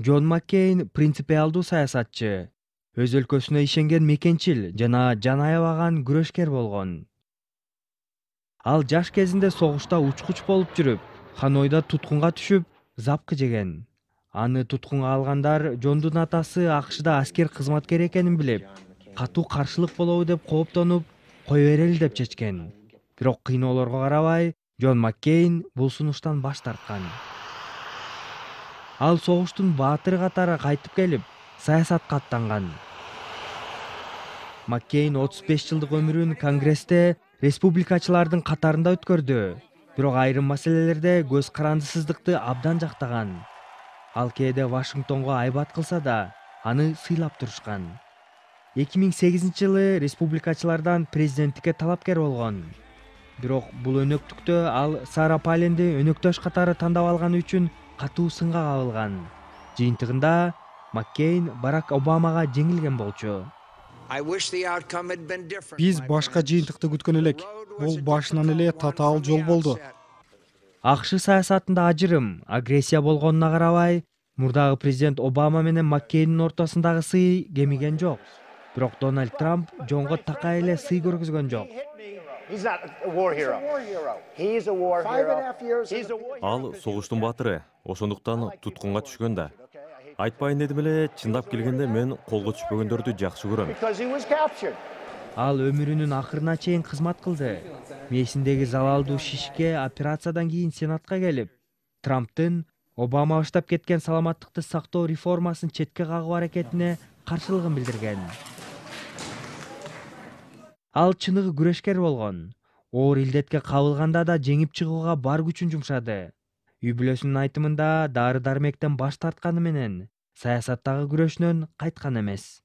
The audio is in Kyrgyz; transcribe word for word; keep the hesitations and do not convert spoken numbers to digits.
Джон Маккейн принципиалдуу саясатчы, өз өлкөсүнө ишенген мекенчил жана жан аябаган күрөшкер болгон. Ал жаш кезинде согушта учкуч болуп жүрүп, Ханойда туткунга түшүп, запкы жеген. Аны туткунга алгандар Джондун атасы АКШда аскер кызматкери экенин билип, катуу каршылык болобу деп кооптонуп, кое берели деп чечкен. Бирок кыйноолорго карабай, Джон Маккейн бул сунуштан баш тарткан. Ал согуштун баатыры катары кайтып келип, саясатка аттанган. Маккейн отуз беш жылдык өмүрүн Конгрессте республикачылардын катарында өткөрдү, бирок айрым маселелерде көз карандысыздыкты абдан жактаган. Ал кээде Вашингтонго айбат кылса да, аны сыйлап турушкан. эки миң сегизинчи жылы республикачылардан президенттикке талапкер болгон. Бирок бул өнөктүктө ал Сара Паленди өнөктөш катары тандап алганы үчүн катуу сынга кабылган. Жыйынтыгында Маккейн Барак Обамага жеңилген болчу. Биз башка жыйынтыкты күткөн элек. Бул башынан эле татаал жол болду. АКШ саясатында ажырым, агрессия болгонуна карабай, мурдагы президент Обама менен Маккейндин ортосундагы сый кемиген жок. Бирок Дональд Трамп Джонго такай эле сый көргөзгөн жок. Ал согуштун баатыры, ошондуктан туткунга түшкөн да. Айтпайын дедим эле, чындап келгенде мен колго түшпөгөндөрдү жакшы көрөм. Ал өмүрүнүн акырына чейин кызмат кылды. Мээсиндеги залалдуу шишке операциядан кийин Сенатка келип, Трамптын Обама баштап кеткен саламаттыкты сактоо реформасын четке кагуу аракетине каршылыгын билдирген. Ал чыныгы күрөшкер болгон. Оор илдетке кабылганда да жеңип чыгууга бар күчүн жумшады. Үй бүлөсүнүн айтымында дары-дармектен баш тартканы менен саясаттагы күрөшүнөн кайткан эмес.